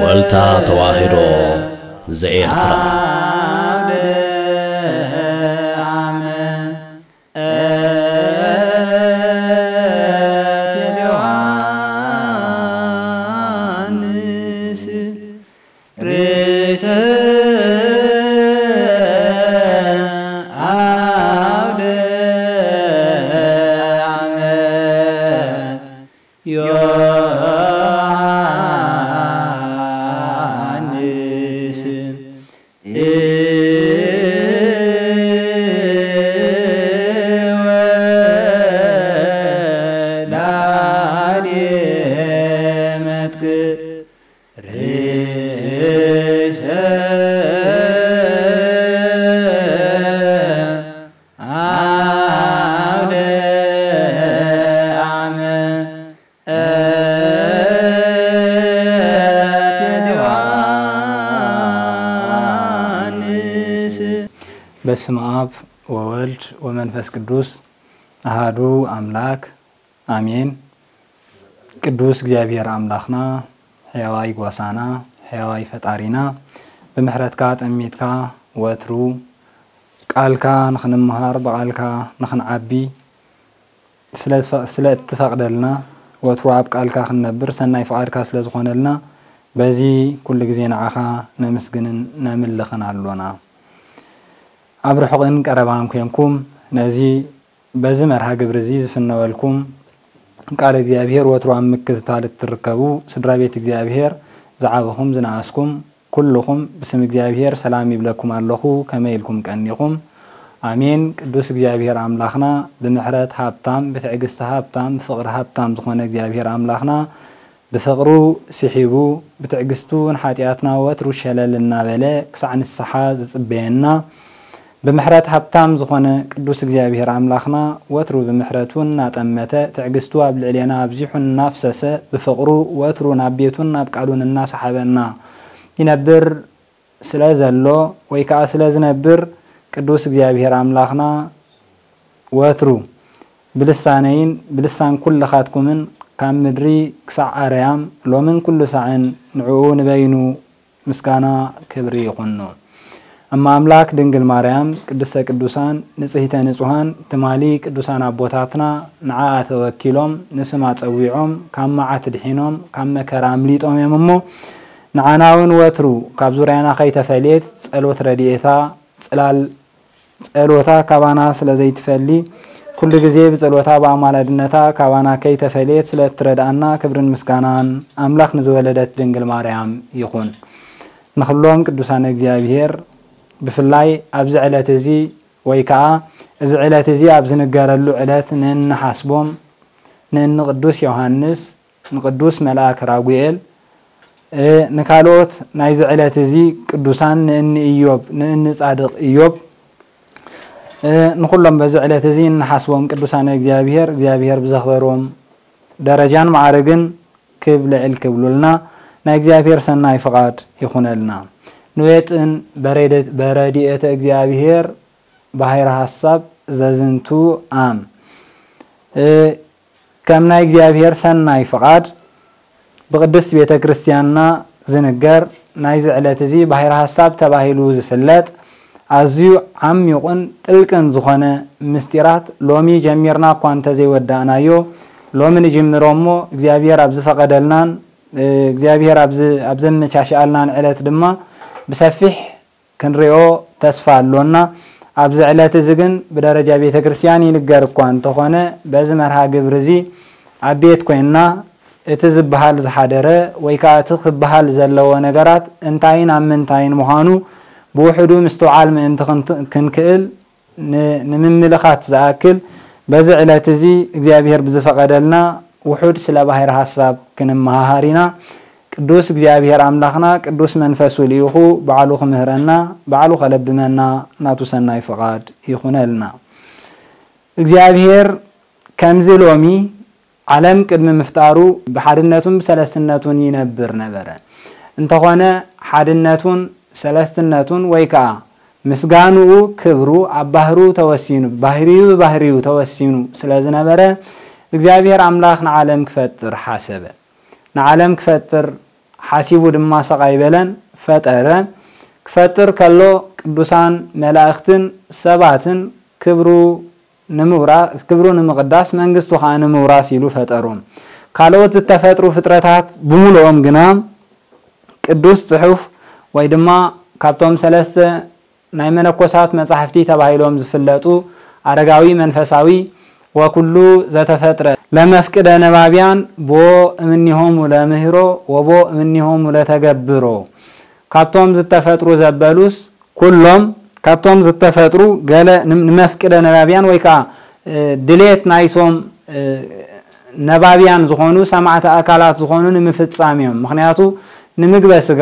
ወልታ ተዋህዶ ዘኤርትራ። ርእሰ አውደ ዓመት ዮሐንስ ወላዴ መጥቅዕ ርእሰ አውደ ዓመት ዮሐንስ። በስመ አብ ወወልድ ወመንፈስ ቅዱስ አሃዱ አምላክ አሜን። ቅዱስ እግዚኣብሔር አምላኽና፣ ሕያዋይ ጓሳና፣ ሕያዋይ ፈጣሪና፣ ብምሕረትካ ጠሚትካ ወትሩ ቃልካ ንኽንምሃር፣ ብቃልካ ንኽንዓቢ ስለ ዝፈ-፣ ስለ እትፈቅደልና፣ ወትሩ ኣብ ቃልካ ክንነብር ሰናይ ፍቃድካ ስለ ዝኾነልና፣ በዚ ኩሉ ግዜ ንዓኻ ነምስግንን ነምልኽን ኣሎና። ኣብ ርሑቕን ቀረባን ኮንኩም ነዚ በዚ መርሃ ግብሪ እዚ ዝፍነወልኩም ቃል እግዚኣብሔር ወትሩ ኣብ ምክትታል እትርከቡ ስድራ ቤት እግዚኣብሔር ዝዓበኹም ዝነኣስኩም ኩልኹም ብስም እግዚኣብሔር ሰላም ይብለኩም ኣለኹ። ከመይ ኢልኩም ቀኒኹም? ኣሜን። ቅዱስ እግዚኣብሔር ኣምላኽና ብምሕረት ሃብታም፣ ብትዕግስቲ ሃብታም፣ ብፍቕሪ ሃብታም ዝኾነ እግዚኣብሔር ኣምላኽና ብፍቕሩ ስሒቡ ብትዕግስቱ ንሓጢኣትና ወትሩ ሸለል እናበለ ክሳዕ ንስሓ ዝጽበየና ብምሕረት ሃብታም ዝኾነ ቅዱስ እግዚኣብሔር ኣምላኽና ወትሩ ብምሕረቱ እናጠመተ ትዕግስቱ ኣብ ልዕሌና ኣብዚሑ እናፍሰሰ ብፍቕሩ ወትሩ ናብ ቤቱን ናብ ቃሉን እናሰሓበና ይነብር ስለ ዘሎ ወይ ከዓ ስለ ዝነብር ቅዱስ እግዚኣብሔር ኣምላኽና ወትሩ ብልሳነይን ብልሳን ኩልኻትኩምን ካብ ምድሪ ክሳዕ ኣርያም ሎምን ኩሉ ሳዕን ንዕኡ ንበይኑ ምስጋና ክብሪ ይኹኑ። እመ ኣምላክ ድንግል ማርያም ቅድስተ ቅዱሳን ንጽሕተ ንጹሃን ትማሊ ቅዱሳን ኣቦታትና ንዓኣ ተወኪሎም ንስማ ጸዊዖም ካብ መዓት ድሒኖም ካብ መከራ ኣምሊጦም እዮም እሞ ንዓና እውን ወትሩ ካብ ዙርያና ከይተፈልየት ጸሎት ረድኤታ ጽላል ጸሎታ ካባና ስለ ዘይትፈሊ ኩሉ ግዜ ብጸሎታ ብኣማላድነታ ካባና ከይተፈልየት ስለ እትረድኣና ክብርን ምስጋናን ኣምላኽ ንዝወለደት ድንግል ማርያም ይኹን። ንኹሎም ቅዱሳን እግዚኣብሔር ብፍላይ ኣብዚ ዕለት እዚ ወይ ከኣ እዚ ዕለት እዚ ኣብ ዝንገረሉ ዕለት ንእንሓስቦም ንእኒ ቅዱስ ዮሃንስ ንቅዱስ መልኣክ ራጉኤል ንካልኦት ናይዚ ዕለት እዚ ቅዱሳን ንእኒ ኢዮብ ንእኒ ጻድቕ ኢዮብ ንኹሎም በዚ ዕለት እዚ እንሓስቦም ቅዱሳን እግዚኣብሔር እግዚኣብሔር ብዘኽበሮም ደረጃን መዓርግን ክብ ልዕል ክብሉልና ናይ እግዚኣብሔር ሰናይ ፍቓድ ይኹነልና። ንዌጥን በረድኤተ እግዚኣብሔር ባሕረ ሓሳብ ዘዝንቱ ኣም ከም ናይ እግዚኣብሔር ሰናይ ፍቓድ ብቅድስት ቤተ ክርስቲያንና ዝንገር ናይዚ ዕለት እዚ ባሕረ ሓሳብ ተባሂሉ ዝፍለጥ ኣዝዩ ዓሚቑን ጥልቅን ዝኾነ ምስጢራት ሎሚ ጀሚርና እኳ እንተዘይወዳእናዮ ሎሚ ንጅምሮ እሞ እግዚኣብሔር ኣብ ዝፈቐደልናን እግዚኣብሔር ኣብ ዘመቻሽኣልናን ዕለት ድማ ብሰፊሕ ክንሪኦ ተስፋ ኣሎና። ኣብዚ ዕለት እዚ ግን ብደረጃ ቤተ ክርስቲያን ይንገር እኳ እንተኾነ በዚ መርሃ ግብሪ እዚ ኣብ ቤት ኮይንና እቲ ዝበሃል ዝሓደረ ወይ ከዓ እቲ ክበሃል ዘለዎ ነገራት እንታይን ኣብ ምንታይን ምዃኑ ብውሕዱ ምስትውዓል ምእንቲ ክንክእል ንምምልኻት ዝኣክል በዚ ዕለት እዚ እግዚኣብሔር ብዝፈቐደልና ውሑድ ስለ ባሕሪ ሓሳብ ክንመሃሃር ኢና። ቅዱስ እግዚኣብሔር ኣምላኽና ቅዱስ መንፈሱ ልኢኹ ባዕሉ ክምህረና ባዕሉ ከለብመና ናቱ ሰናይ ፍቓድ ይኹነልና። እግዚኣብሔር ከምዚ ሎሚ ዓለም ቅድሚ ምፍጣሩ ብሓድነቱን ብሰለስትነቱን ይነብር ነበረ። እንተኾነ ሓድነቱን ሰለስትነቱን ወይ ከዓ ምስጋንኡ ክብሩ ኣብ ባህሩ ተወሲኑ ባህሪዩ ብባህሪዩ ተወሲኑ ስለ ዝነበረ እግዚኣብሔር ኣምላኽ ንዓለም ክፈጥር ሓሰበ። ንዓለም ክፈጥር ሓሲቡ ድማ ሰቕ ኣይበለን፣ ፈጠረ። ክፈጥር ከሎ ቅዱሳን መላእኽትን ሰባትን ክብሩ ንምውራ-፣ ክብሩ ንምቕዳስ መንግስቱ ኸዓ ንምውራስ ኢሉ ፈጠሮም። ካልኦት ዝተፈጥሩ ፍጥረታት ብምሉኦም ግና ቅዱስ ጽሑፍ ወይ ድማ ካብቶም ሰለስተ ናይ መነኮሳት መጻሕፍቲ ተባሂሎም ዝፍለጡ ኣረጋዊ መንፈሳዊ ወኩሉ ዘተፈጥረ ለመፍቅደ ነባብያን ቦ እምኒሆሙ ለምህሮ ወቦ እምኒሆሙ ለተገብሮ ካብቶም ዝተፈጥሩ ዘበሉስ ኩሎም ካብቶም ዝተፈጥሩ ገለ ንም-፣ ንመፍቅደ ነባብያን ወይ ከዓ ድሌት ናይቶም ነባብያን ዝኾኑ ሰማዕቲ ኣካላት ዝኾኑ ንምፍጻም እዮም። ምኽንያቱ ንምግበ ስጋ፣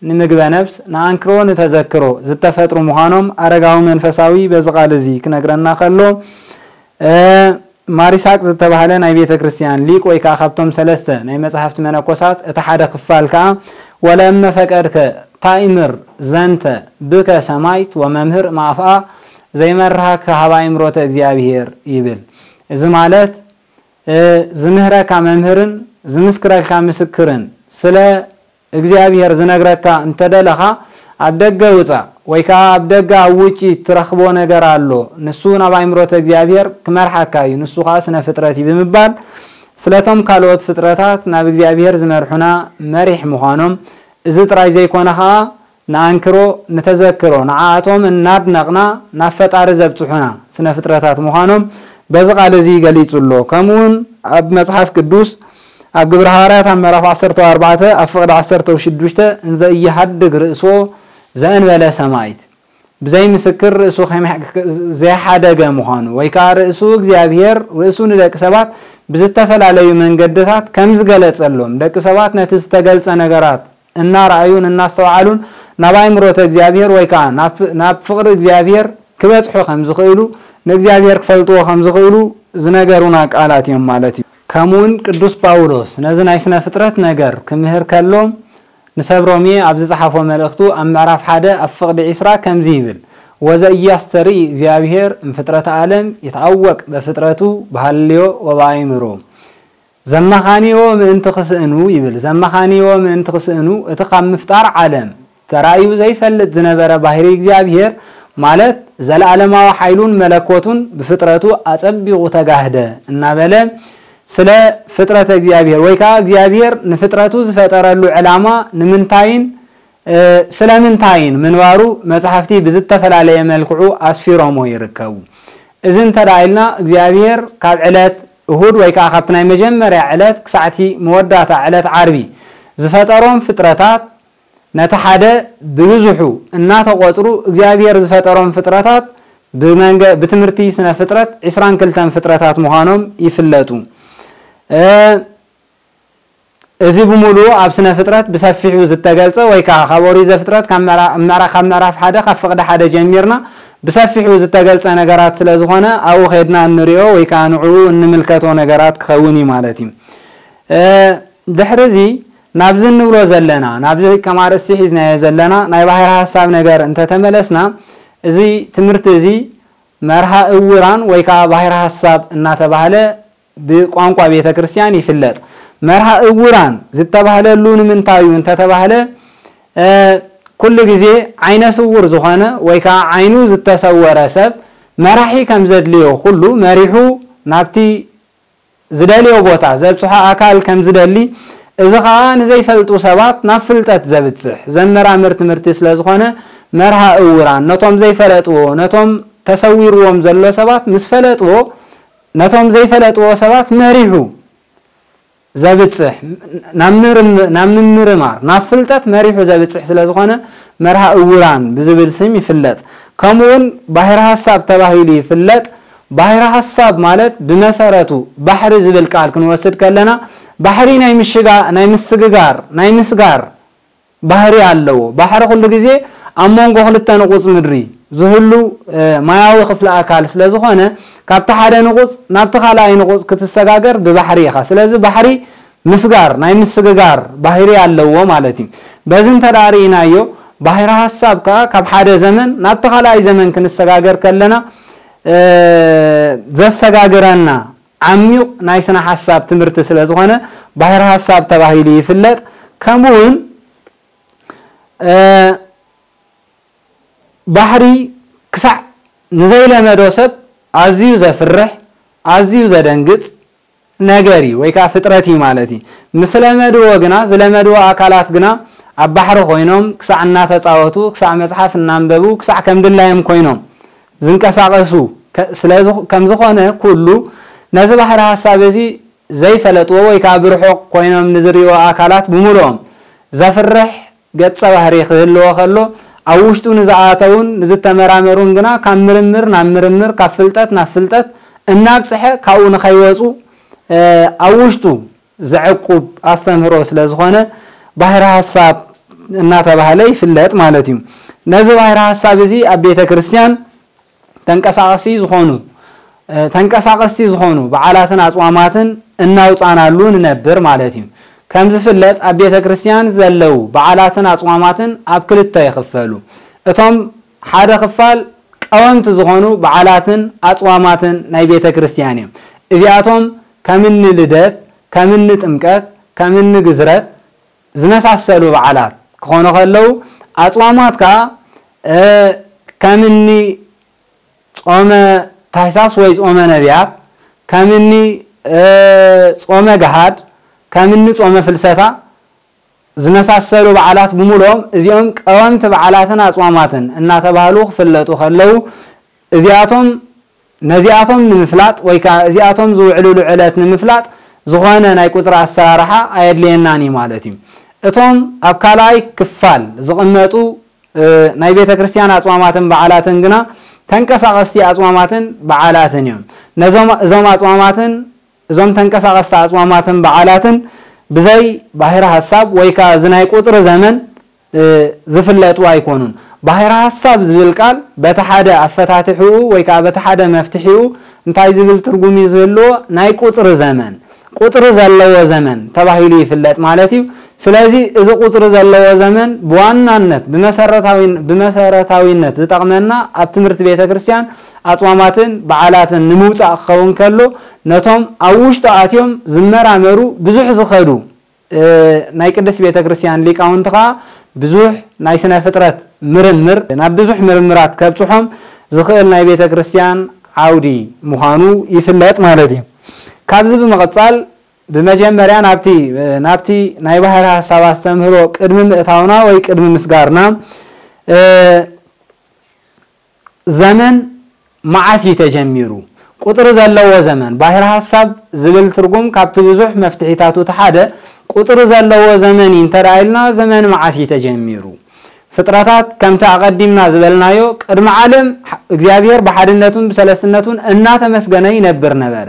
ንምግበ ነብስ፣ ንኣንክሮ ንተዘክሮ ዝተፈጥሩ ምዃኖም ኣረጋዊ መንፈሳዊ በዚ ቃል እዚ ክነግረና ከሎ፣ ማሪሳቅ ዝተባህለ ናይ ቤተ ክርስቲያን ሊቅ ወይ ከዓ ካብቶም ሰለስተ ናይ መጽሓፍቲ መነኮሳት እቲ ሓደ ክፋል ከዓ ወለእመ ፈቀድከ ታእምር ዘንተ ብከ ሰማይት ወመምህር ማፍኣ ዘይመርሃከ ሃባ ይምሮተ እግዚኣብሔር ይብል። እዚ ማለት ዝምህረካ መምህርን ዝምስክረልካ ምስክርን ስለ እግዚኣብሔር ዝነግረካ እንተደለኻ ኣብ ደገ ውፃእ ወይ ከዓ ኣብ ደገ ኣብ ውጪ ትረኽቦ ነገር ኣሎ፣ ንሱ ናብ ኣይምሮተ እግዚኣብሔር ክመርሓካ እዩ፣ ንሱ ከዓ ስነ ፍጥረት እዩ ብምባል ስለቶም ካልኦት ፍጥረታት ናብ እግዚኣብሔር ዝመርሑና መሪሕ ምዃኖም፣ እዚ ጥራይ ዘይኮነ ከዓ ንኣንክሮ ንተዘክሮ ንዓኣቶም እናድነቕና ናብ ፈጣሪ ዘብፅሑና ስነ ፍጥረታት ምዃኖም በዚ ቃል እዚ ገሊጹ ኣሎ። ከምኡውን ኣብ መጽሓፍ ቅዱስ ኣብ ግብረ ሃዋርያት ኣብ ምዕራፍ ዓሰርተ ኣርባዕተ ኣብ ፍቕዲ ዓሰርተ ሽዱሽተ እንዘ እይሃድግ ርእስዎ ዘእንበለ ሰማይት ብዘይ ምስክር ርእሱ ከይመ-፣ ዘይሓደገ ምዃኑ ወይ ከዓ ርእሱ እግዚኣብሔር ርእሱ ንደቂ ሰባት ብዝተፈላለዩ መንገድታት ከም ዝገለጸሎም ደቂ ሰባት ነቲ ዝተገልጸ ነገራት እናረኣዩን እናስተውዓሉን ናብ ኣእምሮተ እግዚኣብሔር ወይ ከዓ ናብ፣ ናብ ፍቕሪ እግዚኣብሔር ክበጽሑ ከም ዝኽእሉ ንእግዚኣብሔር ክፈልጥዎ ከም ዝኽእሉ ዝነገሩና ቃላት እዮም ማለት እዩ። ከምኡውን ቅዱስ ጳውሎስ ነዚ ናይ ስነ ፍጥረት ነገር ክምህር ከሎ ንሰብ ሮሜ ኣብ ዝጸሓፎ መልእኽቱ ኣብ ምዕራፍ ሓደ ኣብ ፍቕዲ ዒስራ ከምዚ ይብል፣ ወዘኢያስተርኢ እግዚኣብሔር እምፍጥረተ ዓለም ይትኣወቅ በፍጥረቱ በሃልዮ ወበኣይምሮ። ዘመኻንዮ ምእንቲ ክስእኑ ይብል። ዘመኻንዮ ምእንቲ ክስእኑ እቲ ካብ ምፍጣር ዓለም ተራእዩ ዘይፈልጥ ዝነበረ ባህሪ እግዚኣብሔር ማለት ዘለዓለማዊ ሓይሉን መለኮቱን ብፍጥረቱ ኣጸቢቑ ተጋህደ እናበለ ስለ ፍጥረተ እግዚኣብሔር ወይ ከዓ እግዚኣብሔር ንፍጥረቱ ዝፈጠረሉ ዕላማ ንምንታይን ስለምንታይን ምንባሩ መጽሓፍቲ ብዝተፈላለየ መልክዑ ኣስፊሮሞ ይርከቡ። እዚ እንተ ደኣ ኢልና እግዚኣብሔር ካብ ዕለት እሁድ ወይ ከዓ ካብቲ ናይ መጀመርያ ዕለት ክሳዕቲ መወዳእታ ዕለት ዓርቢ ዝፈጠሮም ፍጥረታት ነቲ ሓደ ብብዝሑ እናተቖጽሩ እግዚኣብሔር ዝፈጠሮም ፍጥረታት ብመንገ-፣ ብትምህርቲ ስነ ፍጥረት ዕስራን ክልተን ፍጥረታት ምዃኖም ይፍለጡ። እ፣ እዚ ብምሉኡ ኣብ ስነ ፍጥረት ብሰፊሑ ዝተገልጸ ወይ ከዓ ካብ ኦሪት ዘፍጥረት ካብ ምዕራ-፣ ምዕራ-፣ ካብ ምዕራፍ ሓደ ካብ ፍቕዲ ሓደ ጀሚርና ብሰፊሑ ዝተገልጸ ነገራት ስለ ዝኾነ ኣብኡ ከድና እንሪኦ ወይ ከዓ ንዕኡ እንምልከቶ ነገራት ክኸውን እዩ ማለት እዩ። እ፣ ድሕሪ እዚ ናብዚ እንብሎ ዘለና፣ ናብዚ ከም ኣርእስቲ ሒዝናዮ ዘለና ናይ ባሕሪ ሓሳብ ነገር እንተተመለስና፣ እዚ ትምህርቲ እዚ መርሃ እውራን ወይ ከዓ ባሕሪ ሓሳብ እናተባህለ ብቋንቋ ቤተ ክርስቲያን ይፍለጥ። መርሃ እውራን ዝተባህለሉ ንምንታይ እዩ እንተተባህለ፣ እ፣ ኩሉ ግዜ ዓይነ ስውር ዝኾነ ወይ ከዓ ዓይኑ ዝተሰወረ ሰብ መራሒ ከም ዘድልዮ ኩሉ መሪሑ ናብቲ ዝደልዮ ቦታ ዘብጽሖ ኣካል ከም ዝደሊ፣ እዚ ኸኣ ንዘይፈልጡ ሰባት ናብ ፍልጠት ዘብጽሕ ዘመራምር ትምህርቲ ስለ ዝኾነ፣ መርሃ እውራን ነቶም ዘይፈለጥዎ፣ ነቶም ተሰዊርዎም ዘሎ ሰባት ምስ ፈለጥዎ፣ ነቶም ዘይፈለጥዎ ሰባት መሪሑ ዘብጽሕ፣ ናብ ምርም-፣ ናብ ምምርማር፣ ናብ ፍልጠት መሪሑ ዘብጽሕ ስለ ዝኾነ፣ መርሃ እውራን ብዝብል ስም ይፍለጥ። ከምኡውን ባሕሪ ሐሳብ ተባሂሉ ይፍለጥ። ባሕሪ ሐሳብ ማለት ብመሰረቱ ባሕሪ ዝብል ቃል ክንወስድ ከለና፣ ባሕሪ ናይ ምሽጋ-፣ ናይ ምስግጋር፣ ናይ ምስጋር ባህሪ ኣለዎ። ባሕሪ ኩሉ ግዜ ኣብ መንጎ ክልተ ንቑጽ ምድሪ ዝህሉ፣ እ፣ ማያዊ ክፍሊ ኣካል ስለ ዝኾነ፣ ካብቲ ሓደ ንቑጽ ናብቲ ካልኣይ ንቑጽ ክትሰጋገር ብባሕሪ ኢኻ። ስለዚ ባሕሪ ምስጋር፣ ናይ ምስግጋር ባህሪ ኣለዎ ማለት እዩ። በዚ እንተ ደኣ ርኢናዮ፣ ባሕሪ ሐሳብ ከኣ ካብ ሓደ ዘመን ናብቲ ካልኣይ ዘመን ክንሰጋገር ከለና፣ እ፣ ዘሰጋግረና ዓሚቕ ናይ ስነ ሓሳብ ትምህርቲ ስለ ዝኾነ ባሕሪ ሓሳብ ተባሂሉ ይፍለጥ። ከምኡ እውን ባሕሪ ክሳዕ ንዘይለመዶ ሰብ ኣዝዩ ዘፍርሕ ኣዝዩ ዘደንግጽ ነገር እዩ ወይ ከዓ ፍጥረት እዩ ማለት እዩ። ምስ ለመድዎ ግና ዝለመድዎ ኣካላት ግና ኣብ ባሕሪ ኮይኖም ክሳዕ እናተፃወቱ ክሳዕ መፅሓፍ እናንበቡ ክሳዕ ከም ድላዮም ኮይኖም ዝንቀሳቐሱ ከም ዝኾነ ኩሉ ነዚ ባሕሪ ሓሳብ እዚ ዘይፈለጥዎ ወይ ከዓ ብርሑቕ ኮይኖም ንዝርእይዎ ኣካላት ብምሉኦም ዘፍርሕ ገጸ ባህሪ ክህልዎ ከሎ ኣብ ውሽጡ ንዝኣተውን ንዝተመራመሩን ግና ካብ ምርምር ናብ ምርምር ካብ ፍልጠት ናብ ፍልጠት እናብፅሐ ካብኡ ንኸይወፁ ኣብ ውሽጡ ዘዕቁብ ኣስተምህሮ ስለ ዝኾነ ባህሪ ሓሳብ እናተባህለ ይፍለጥ ማለት እዩ። ነዚ ባህሪ ሓሳብ እዚ ኣብ ቤተ ክርስቲያን ተንቀሳቐሲ ዝኾኑ ተንቀሳቐስቲ ዝኾኑ በዓላትን ኣፅዋማትን እናውፃናሉ ንነብር ማለት እዩ። ከም ዝፍለጥ ኣብ ቤተ ክርስቲያን ዘለዉ በዓላትን ኣፅዋማትን ኣብ ክልተ ይኽፈሉ። እቶም ሓደ ክፋል ቀወምቲ ዝኾኑ በዓላትን ኣፅዋማትን ናይ ቤተ ክርስቲያን እዮም። እዚኣቶም ከምኒ ልደት፣ ከምኒ ጥምቀት፣ ከምኒ ግዝረት ዝመሳሰሉ በዓላት ክኾኑ ከለዉ ኣፅዋማት ከዓ ከምኒ ጾመ ታሕሳስ ወይ ጾመ ነቢያት፣ ከምኒ ጾመ ገሃድ፣ ከምኒ ጾመ ፍልሰታ ዝመሳሰሉ በዓላት ብምሉኦም እዚኦም ቀወምቲ በዓላትን ኣጽዋማትን እናተባህሉ ክፍለጡ ከለዉ እዚኣቶም ነዚኣቶም ንምፍላጥ ወይ ከዓ እዚኣቶም ዝውዕልሉ ዕለት ንምፍላጥ ዝኾነ ናይ ቁፅሪ ኣሰራርሓ ኣየድልየናን እዩ ማለት እዩ። እቶም ኣብ ካልኣይ ክፋል ዝቕመጡ ናይ ቤተ ክርስቲያን ኣጽዋማትን በዓላትን ግና ተንቀሳቐስቲ ኣጽዋማትን በዓላትን እዮም። ነዞም እዞም ኣጽዋማትን እዞም ተንቀሳቐስቲ ኣጽዋማትን በዓላትን ብዘይ ባሕሪ ሐሳብ ወይ ከኣ እዚ ናይ ቁጽሪ ዘመን ዝፍለጡ ኣይኮኑን። ባሕሪ ሐሳብ ዝብል ቃል በቲ ሓደ ኣፈታትሕኡ ወይ ከኣ በቲ ሓደ መፍትሒኡ እንታይ ዝብል ትርጉም እዩ ዝህልዎ? ናይ ቁጽሪ ዘመን ቁጽሪ ዘለዎ ዘመን ተባሂሉ ይፍለጥ ማለት እዩ። ስለዚ እዚ ቁጽሪ ዘለዎ ዘመን ብዋናነት ብመሰረታዊነት ዝጠቕመና ኣብ ትምህርቲ ቤተ ክርስቲያን ኣጽዋማትን በዓላትን ንምውጻእ ክኸውን ከሎ ነቶም ኣብ ውሽጡ ኣትዮም ዝመራመሩ ብዙሕ ዝኸዱ ናይ ቅድስት ቤተ ክርስቲያን ሊቃውንቲ ኸዓ ብዙሕ ናይ ስነ ፍጥረት ምርምር ናብ ብዙሕ ምርምራት ከብጽሖም ዝኽእል ናይ ቤተ ክርስቲያን ዓውዲ ምዃኑ ይፍለጥ ማለት እዩ። ካብዚ ብምቕጻል ብመጀመርያ ናብቲ ናብቲ ናይ ባህሪ ሐሳብ ኣስተምህሮ ቅድሚ ምእታውና ወይ ቅድሚ ምስጋርና ዘመን መዓስ እዩ ተጀሚሩ? ቁጽሪ ዘለዎ ዘመን ባህሪ ሐሳብ ዝብል ትርጉም ካብቲ ብዙሕ መፍትሒታቱ እቲ ሓደ ቁጽሪ ዘለዎ ዘመን እዩ እንተ ደኣ ኢልና ዘመን መዓስ እዩ ተጀሚሩ? ፍጥረታት ከምቲ ኣቐዲምና ዝበልናዮ ቅድሚ ዓለም እግዚኣብሔር ብሓድነቱን ብሰለስትነቱን እናተመስገነ ይነብር ነበረ።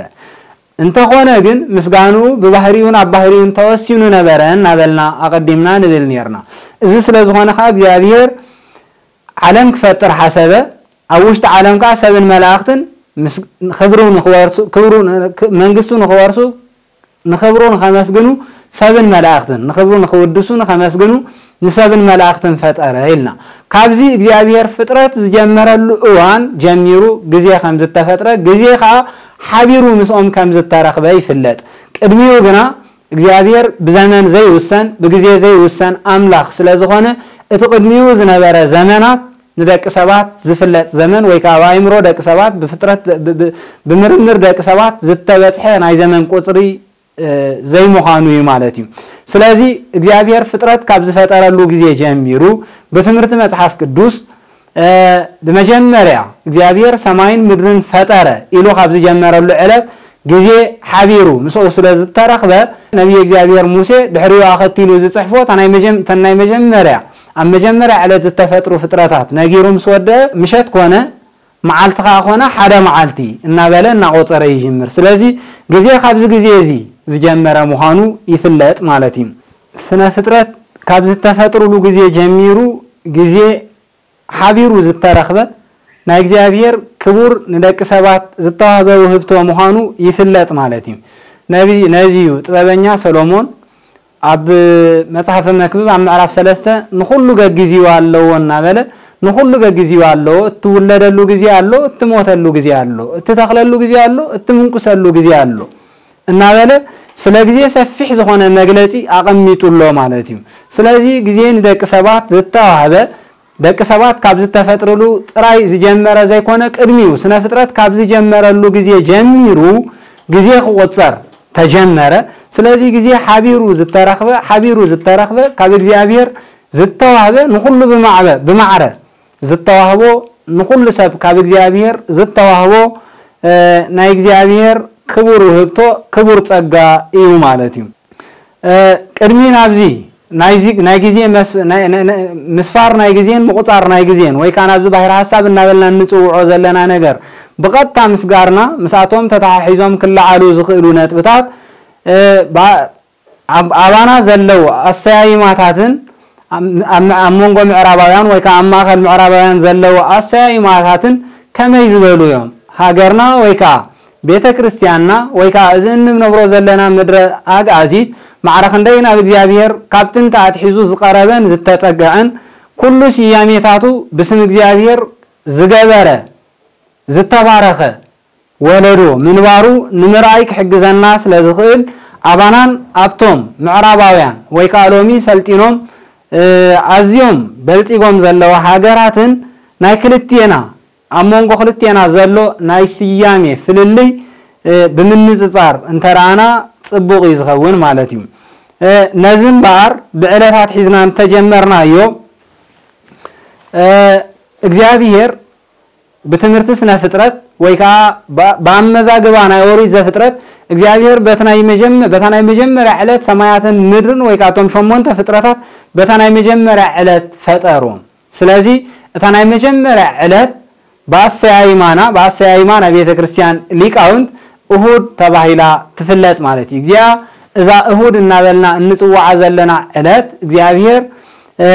እንተኾነ ግን ምስጋንኡ ብባህሪኡን ኣብ ባህሪኡን ተወሲኑ ነበረ እናበልና ኣቐዲምና ንብል ነርና። እዚ ስለ ዝኾነ ኸዓ እግዚኣብሔር ዓለም ክፈጥር ሓሰበ። ኣብ ውሽጢ ዓለም ከኣ ሰብን መላእኽትን ክብሩ ንኽወርሱ ክብሩ መንግስቱ ንኽወርሱ ንኽብሩ ንኸመስግኑ ሰብን መላእኽትን ንኽብሩ ንኽውድሱ ንኸመስግኑ ንሰብን መላእኽትን ፈጠረ ኢልና። ካብዚ እግዚኣብሔር ፍጥረት ዝጀመረሉ እዋን ጀሚሩ ግዜ ከም ዝተፈጥረ ግዜ ከኣ ሓቢሩ ምስኦም ከም ዝተረኽበ ይፍለጥ። ቅድሚኡ ግና እግዚኣብሔር ብዘመን ዘይውሰን ብግዜ ዘይውሰን ኣምላኽ ስለ ዝኾነ እቲ ቅድሚኡ ዝነበረ ዘመናት ንደቂ ሰባት ዝፍለጥ ዘመን ወይ ከዓ ብኣእምሮ ደቂ ሰባት ብፍጥረት ብምርምር ደቂ ሰባት ዝተበፅሐ ናይ ዘመን ቁፅሪ ዘይምዃኑ እዩ ማለት እዩ። ስለዚ እግዚኣብሔር ፍጥረት ካብ ዝፈጠረሉ ግዜ ጀሚሩ ብትምህርቲ መፅሓፍ ቅዱስ ብመጀመርያ እግዚኣብሔር ሰማይን ምድርን ፈጠረ ኢሉ ካብ ዝጀመረሉ ዕለት ግዜ ሓቢሩ ምስኡ ስለ ዝተረኽበ ነቢይ እግዚኣብሔር ሙሴ ድሕሪኡ ኣኸቲሉ ዝፅሕፎ እተን ናይ መጀመርያ ኣብ መጀመርያ ዕለት ዝተፈጥሩ ፍጥረታት ነጊሩ ምስ ወደአ ምሸት ኮነ መዓልቲ ከኣ ኮነ ሓደ መዓልቲ እናበለ እናቆጸረ ይጅምር። ስለዚ ግዜ ካብዚ ግዜ እዚ ዝጀመረ ምዃኑ ይፍለጥ ማለት እዩ። ስነ ፍጥረት ካብ ዝተፈጥሩሉ ግዜ ጀሚሩ ግዜ ሓቢሩ ዝተረኽበ ናይ እግዚኣብሔር ክቡር ንደቂ ሰባት ዝተዋህበ ውህብቶ ምዃኑ ይፍለጥ ማለት እዩ። ነዚ እዩ ጥበበኛ ሰሎሞን ኣብ መጽሓፈ መክብብ ኣብ ምዕራፍ ሰለስተ ንኹሉ ገጊዝዎ ኣለዎ እናበለ ንኹሉ ገግዚኡ ኣሎ። እትውለደሉ ግዜ ኣሎ፣ እትሞተሉ ግዜ ኣሎ፣ እትተኽለሉ ግዜ ኣሎ፣ እትምንቁሰሉ ግዜ ኣሎ እናበለ ስለ ግዜ ሰፊሕ ዝኾነ መግለጺ ኣቐሚጡ ኣሎ ማለት እዩ። ስለዚ ግዜ ንደቂ ሰባት ዝተዋህበ፣ ደቂ ሰባት ካብ ዝተፈጥርሉ ጥራይ ዝጀመረ ዘይኮነ፣ ቅድሚኡ ስነ ፍጥረት ካብ ዝጀመረሉ ግዜ ጀሚሩ ግዜ ክቑጸር ተጀመረ። ስለዚ ግዜ ሓቢሩ ዝተረኽበ፣ ሓቢሩ ዝተረኽበ፣ ካብ እግዚኣብሔር ዝተዋህበ፣ ንኹሉ ብማዕበ-፣ ብማዕረ ዝተዋህቦ፣ ንኹሉ ሰብ ካብ እግዚኣብሔር ዝተዋህቦ፣ እ፣ ናይ እግዚኣብሔር ክቡር ውህብቶ፣ ክቡር ጸጋ እዩ ማለት እዩ። እ፣ ቅድሚ ናብዚ ናይዚ፣ ናይ ግዜ መስ-፣ ናይ፣ ናይ፣ ናይ፣ ምስፋር ናይ ግዜን ምቑጻር ናይ ግዜን ወይ ከኣ ናብዚ ባሕሪ ሓሳብ እናበልና እንጽውዖ ዘለና ነገር ብቐጥታ ምስጋርና፣ ምስኣቶም ተተሓሒዞም ክለዓሉ ዝኽእሉ ነጥብታት፣ እ፣ ባ-፣ ኣብ-፣ ኣባና ዘለዉ ኣሰያይማታትን ኣብ፣ ኣብ፣ ኣብ መንጎ ምዕራባውያን ወይ ከኣ ኣብ ማእከል ምዕራባውያን ዘለዉ ኣሰያይማታትን ከመይ ዝበሉ እዮም? ሃገርና ወይ ከኣ ቤተ ክርስቲያንና ወይ ከኣ እዚ እንነብሮ ዘለና ምድረ ኣግኣዚት ማዕረ ክንደይ ናብ እግዚኣብሔር ካብ ጥንቲ ኣትሒዙ ዝቐረበን ዝተጸግዐን፣ ኩሉ ስያሜታቱ ብስም እግዚኣብሔር ዝገበረ፣ ዝተባረኸ ወለዶ ምንባሩ ንምርኣይ ክሕግዘና ስለ ዝኽእል፣ ኣባናን ኣብቶም ምዕራባውያን ወይ ከኣ ሎሚ ሰልጢኖም፣ እ፣ ኣዝዮም በልጺጎም ዘለዉ ሃገራትን ናይ ክልቴና፣ ኣብ መንጎ ክልቴና ዘሎ ናይ ስያሜ ፍልልይ፣ እ፣ ብምንጽጻር እንተ ረኣና ጽቡቕ እዩ ዝኸውን ማለት እዩ። እ፣ ነዚ እምበኣር ብዕለታት ሒዝና እንተጀመርናዮ፣ እ፣ እግዚኣብሔር ብትምህርቲ ስነ ፍጥረት ወይ ከኣ ብ-፣ ብኣመዛግባ ናይ ኦሪት ዘፍጥረት እግዚኣብሔር በቲ ናይ መጀመ-፣ በታ ናይ መጀመርያ ዕለት ሰማያትን ምድርን ወይ ከኣ እቶም ሸሞንተ ፍጥረታት በታ ናይ መጀመርያ ዕለት ፈጠሮም። ስለዚ እታ ናይ መጀመርያ ዕለት ብኣሰያይማና፣ ብኣሰያይማ ናይ ቤተ ክርስቲያን ሊቃውንት እሁድ ተባሂላ ትፍለጥ ማለት እዩ። እዚኣ፣ እዛ እሁድ እናበልና እንጽውዓ ዘለና ዕለት እግዚኣብሔር፣ እ፣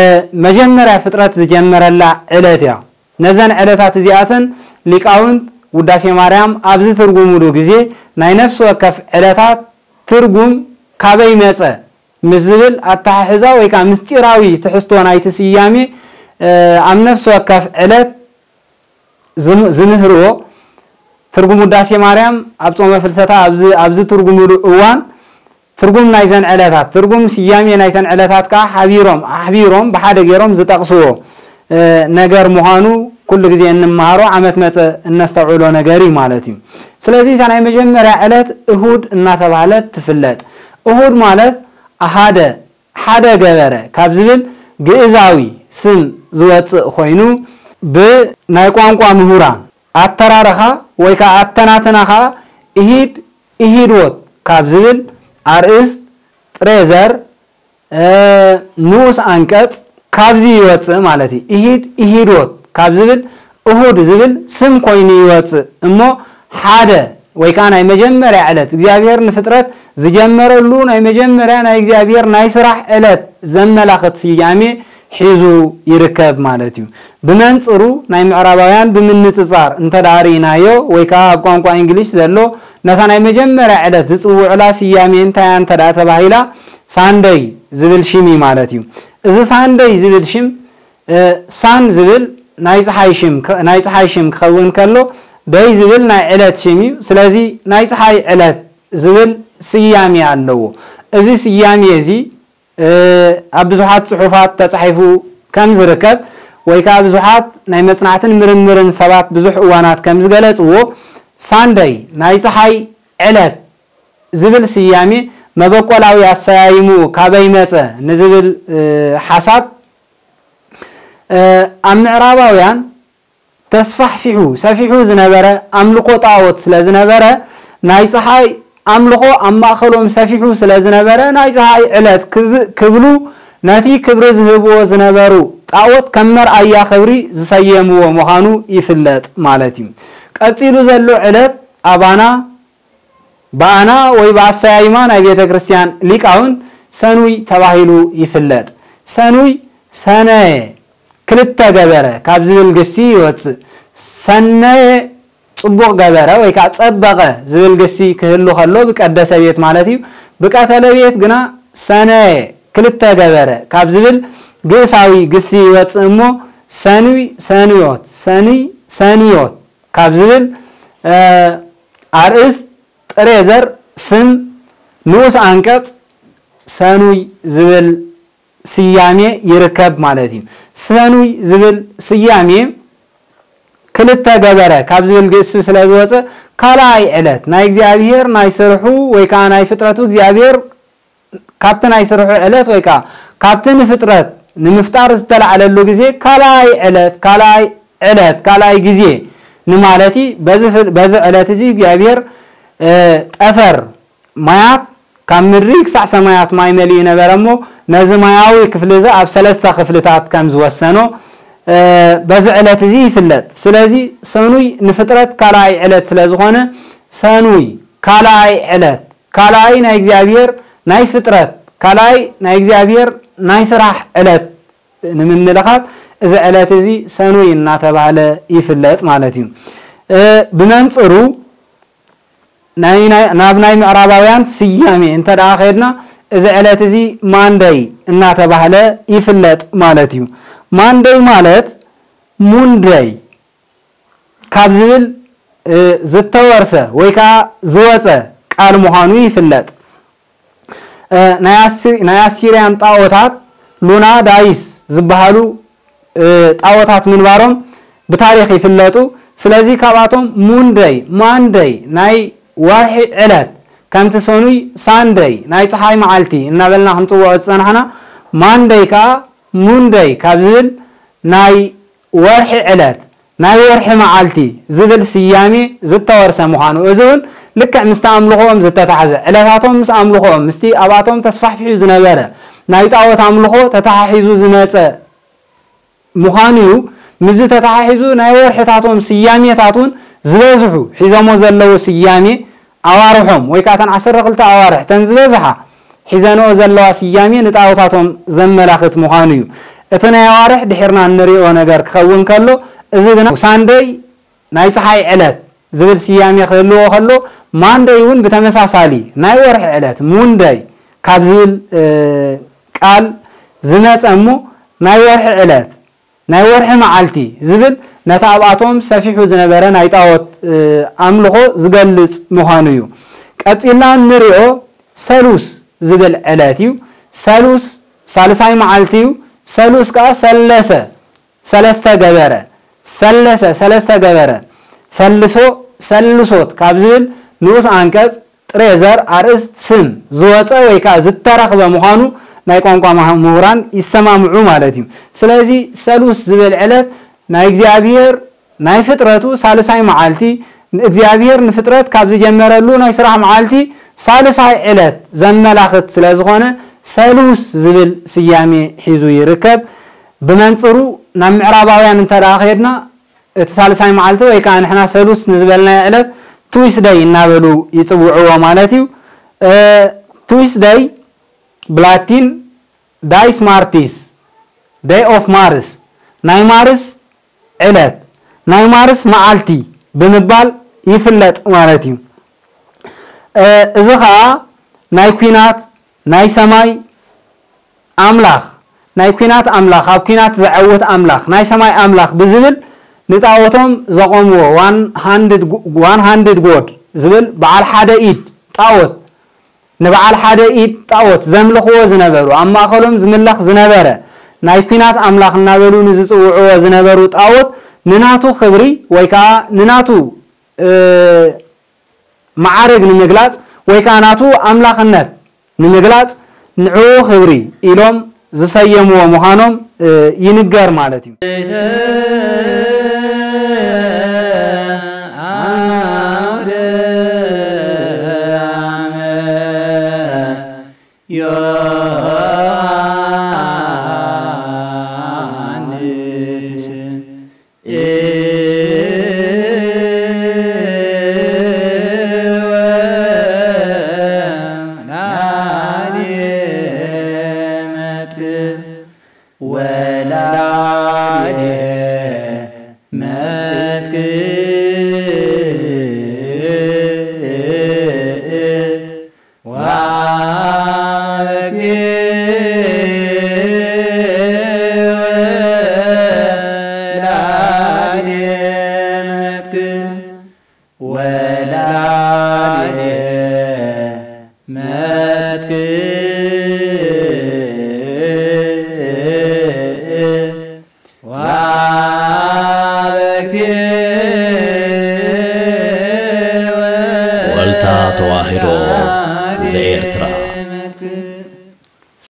መጀመርያ ፍጥረት ዝጀመረላ ዕለት እያ። ነዘን ዕለታት እዚኣተን ሊቃውንት ውዳሴ ማርያም ኣብ ዝትርጉሙሉ ግዜ ናይ ነፍሲ ወከፍ ዕለታት ትርጉም ካበይ መጸ ምስ ዝብል ኣተሓሕዛ ወይ ከኣ ምስጢራዊ ትሕዝቶ ናይቲ ስያሜ፣ እ፣ ኣብ ነፍሲ ወከፍ ዕለት ዝም-፣ ዝምህርዎ ትርጉም ውዳሴ ማርያም ኣብ ጾመ ፍልሰታ ኣብዚ፣ ኣብዚ ትርጉሙሉ እዋን ትርጉም ናይዘን ዕለታት፣ ትርጉም ስያሜ ናይተን ዕለታት ከኣ ሓቢሮም፣ ኣሕቢሮም ብሓደ ገይሮም ዝጠቕስዎ፣ እ፣ ነገር ምዃኑ ኩሉ ግዜ እንመሃሮ፣ ዓመት መጸ እነስተውዕሎ ነገር እዩ ማለት እዩ። ስለዚ እታ ናይ መጀመርያ ዕለት እሁድ እናተባህለት ትፍለጥ። እሁድ ማለት ኣሃደ፣ ሓደ ገበረ ካብ ዝብል ግእዛዊ ስም ዝወጽእ ኮይኑ፣ ብናይ ቋንቋ ምሁራን ኣተራረኻ ወይ ከኣ ኣተናትና ከኣ ኢሂድ፣ ኢሂድዎት ካብ ዝብል ኣርእስት፣ ጥሬ ዘር፣ እ፣ ንኡስ ኣንቀጽ ካብዚ ይወጽእ ማለት እዩ። ኢሂድ፣ ኢሂድዎት ካብ ዝብል እሁድ ዝብል ስም ኮይኑ ይወጽእ እሞ፣ ሓደ ወይ ከኣ ናይ መጀመርያ ዕለት እግዚኣብሔር ንፍጥረት ዝጀመረሉ ናይ መጀመርያ ናይ እግዚኣብሔር ናይ ስራሕ ዕለት ዘመላኽት ስያሜ ሒዙ ይርከብ ማለት እዩ። ብመንጽሩ ናይ ምዕራባውያን ብምንጽጻር እንተ ደኣ ርኢናዮ ወይ ከኣ ኣብ ቋንቋ እንግሊሽ ዘሎ ነታ ናይ መጀመርያ ዕለት ዝጽውዑላ ስያሜ እንታይ እያ እንተ ደኣ ተባሂላ ሳንደይ ዝብል ሽም እዩ ማለት እዩ። እዚ ሳንደይ ዝብል ሽም፣ እ፣ ሳን ዝብል ናይ ጸሓይ ሽም ክ-፣ ናይ ጸሓይ ሽም ክኸውን ከሎ፣ ደይ ዝብል ናይ ዕለት ሽም እዩ። ስለዚ ናይ ጸሓይ ዕለት ዝብል ስያሜ ኣለዎ። እዚ ስያሜ እዚ፣ እ፣ ኣብ ብዙሓት ጽሑፋት ተጻሒፉ ከም ዝርከብ ወይ ከኣ ብዙሓት ናይ መጽናዕትን ምርምርን ሰባት ብዙሕ እዋናት ከም ዝገለጽዎ፣ ሳንደይ ናይ ጸሓይ ዕለት ዝብል ስያሜ መበቆላዊ ኣሰያይሙ ካበይ መጸ ንዝብል፣ እ፣ ሓሳብ፣ እ፣ ኣብ ምዕራባውያን ተስፋሕፊሑ ሰፊሑ ዝነበረ ኣምልኮ ጣዖት ስለ ዝነበረ፣ ናይ ጸሓይ ኣምልኾ ኣብ ማእከሎም ሰፊሑ ስለ ዝነበረ፣ ናይ ጸሓይ ዕለት ክብ-፣ ክብሉ ነቲ ክብሪ ዝህብዎ ዝነበሩ ጣዖት ከም መርኣያ ክብሪ ዝሰየምዎ ምዃኑ ይፍለጥ ማለት እዩ። ቀጺሉ ዘሎ ዕለት ኣባና ብኣና ወይ ብኣሰያይማ ናይ ቤተ ክርስቲያን ሊቃውንት ሰኑይ ተባሂሉ ይፍለጥ። ሰኑይ ሰነየ ክልተ ገበረ ካብ ዝብል ግሲ ይወጽእ። ሰነየ ጽቡቕ ገበረ ወይ ከኣ ጸበቐ ዝብል ግሲ ክህሉ ከሎ ብቀደሰ ቤት ማለት እዩ። ብቀተለ ቤት ግና ሰነየ ክልተ ገበረ ካብ ዝብል ግእሳዊ ግሲ ይወጽእ እሞ ሰኑይ ሰኑዮት፣ ሰኑይ ሰኑዮት ካብ ዝብል ኣርእስት ጥሬ ዘር ስም ንኡስ ኣንቀጽ ሰኑይ ዝብል ስያሜ ይርከብ ማለት እዩ። ሰኑይ ዝብል ስያሜ ክልተ ገበረ ካብ ዝብል ግእሲ ስለ ዝወፀ ካልኣይ ዕለት ናይ እግዚኣብሔር ናይ ስርሑ ወይ ከዓ ናይ ፍጥረቱ እግዚኣብሔር ካብቲ ናይ ስርሑ ዕለት ወይ ከዓ ካብቲ ንፍጥረት ንምፍጣር ዝተላዕለሉ ግዜ ካልኣይ ዕለት ካልኣይ ዕለት ካልኣይ ግዜ ንማለት እዩ። በዚ ዕለት እዚ እግዚኣብሔር ጠፈር ማያት ካብ ምድሪ ክሳዕ ሰማያት ማይ መሊኡ ነበረ እሞ ነዚ ማያዊ ክፍሊ እዚ ኣብ ሰለስተ ክፍልታት ከም ዝወሰኖ በዚ ዕለት እዚ ይፍለጥ። ስለዚ ሰኑይ ንፍጥረት ካልኣይ ዕለት ስለ ዝኾነ ሰኑይ ካልኣይ ዕለት ካልኣይ ናይ እግዚኣብሔር ናይ ፍጥረት ካልኣይ ናይ እግዚኣብሔር ናይ ስራሕ ዕለት ንምምልኻት እዚ ዕለት እዚ ሰኑይ እናተባህለ ይፍለጥ ማለት እዩ። ብመንፅሩ ናብ ናይ ምዕራባውያን ስያሜ እንተ ደኣ ከድና እዚ ዕለት እዚ ማንደይ እናተባህለ ይፍለጥ ማለት እዩ። ማንደይ ማለት ሙንደይ ካብ ዝብል ዝተወርሰ ወይ ከዓ ዝወፀ ቃል ምዃኑ ይፍለጥ። ናይ ኣሲርያን ጣዖታት ሉና ዳይስ ዝበሃሉ ጣዖታት ምንባሮም ብታሪኽ ይፍለጡ። ስለዚ ካብኣቶም ሙንደይ ማንደይ ናይ ወርሒ ዕለት ከምቲ ሰኑይ ሳንደይ ናይ ፀሓይ መዓልቲ እናበልና ክንፅውዖ ዝፀናሕና ማንደይ ከዓ ሙንደይ ካብ ዝብል ናይ ወርሒ ዕለት ናይ ወርሒ መዓልቲ ዝብል ስያሜ ዝተወርሰ ምዃኑ፣ እዚ እውን ልክዕ ምስቲ ኣምልኾኦም ዝተታሕዘ፣ ዕለታቶም ምስ ኣምልኾኦም፣ ምስቲ ኣብኣቶም ተስፋሕፊሑ ዝነበረ ናይ ጣዖት ኣምልኾ ተተሓሒዙ ዝመጸ ምዃኑ እዩ። ምስዚ ተተሓሒዙ ናይ ወርሕታቶም ስያሜታት እውን ዝበዝሑ ሒዞሞ ዘለዉ ስያሜ ኣዋርሖም ወይ ከዓ እተን ዓሰርተ ክልተ ኣዋርሕ እተን ዝበዝሓ ሒዘንኦ ዘለዋ ስያሜ ንጣዖታቶም ዘመላኽት ምዃኑ እዩ። እቲ ናይ ኣዋርሕ ድሒርና እንሪኦ ነገር ክኸውን ከሎ፣ እዚ ግና ሳንደይ ናይ ፀሓይ ዕለት ዝብል ስያሜ ክህልዎ ከሎ፣ ማንደይ እውን ብተመሳሳሊ ናይ ወርሒ ዕለት ሙንደይ ካብ ዝብል ቃል ዝመፀ እሞ ናይ ወርሒ ዕለት ናይ ወርሒ መዓልቲ ዝብል ነቲ ኣብኣቶም ሰፊሑ ዝነበረ ናይ ጣዖት ኣምልኾ ዝገልጽ ምዃኑ እዩ። ቀጺልና እንሪኦ ሰሉስ ዝብል ዕለት እዩ። ሰሉስ ሳልሳይ መዓልቲ እዩ። ሰሉስ ከዓ ሰለሰ ሰለስተ ገበረ ሰለሰ ሰለስተ ገበረ ሰልሶ ሰልሶት ካብ ዝብል ንኡስ ኣንቀጽ ጥሬ ዘር ኣርእስት ስም ዝወፀ ወይ ከዓ ዝተረኽበ ምዃኑ ናይ ቋንቋ ምሁራን ይሰማምዑ ማለት እዩ። ስለዚ ሰሉስ ዝብል ዕለት ናይ እግዚኣብሔር ናይ ፍጥረቱ ሳልሳይ መዓልቲ እግዚኣብሔር ንፍጥረት ካብ ዝጀመረሉ ናይ ስራሕ መዓልቲ ሳልሳይ ዕለት ዘመላኽት ስለ ዝኾነ ሰሉስ ዝብል ስያሜ ሒዙ ይርከብ። ብመንፅሩ ናብ ምዕራባውያን እንተ ደኣ ከድና እቲ ሳልሳይ መዓልቲ ወይ ከዓ ንሕና ሰሉስ ንዝበልናዮ ዕለት ትዊስደይ እናበሉ ይፅውዕዎ ማለት እዩ። ትዊስደይ ብላቲን ዳይስ ማርቲስ ደይ ኦፍ ማርስ ናይ ማርስ ዕለት ናይ ማርስ መዓልቲ ብምባል ይፍለጥ ማለት እዩ። እዚ ከዓ ናይ ኲናት ናይ ሰማይ ኣምላኽ ናይ ኲናት ኣምላኽ ኣብ ኲናት ዘዐውት ኣምላኽ ናይ ሰማይ ኣምላኽ ብዝብል ንጣዖቶም ዘቖምዎ one hundred god ዝብል በዓል ሓደ ኢድ ጣዖት ንበዓል ሓደ ኢድ ጣዖት ዘምልኽዎ ዝነበሩ ኣብ ማእኸሎም ዝምለኽ ዝነበረ ናይ ኲናት ኣምላኽ እናበሉ ንዝፅውዕዎ ዝነበሩ ጣዖት ንናቱ ክብሪ ወይ ከዓ ንናቱ መዓርግ ንምግላፅ ወይ ከዓ ናቱ ኣምላኽነት ንምግላፅ ንዕኡ ክብሪ ኢሎም ዝሰየምዎ ምዃኖም ይንገር ማለት እዩ። ወልታ ተዋህዶ ዘኤርትራ።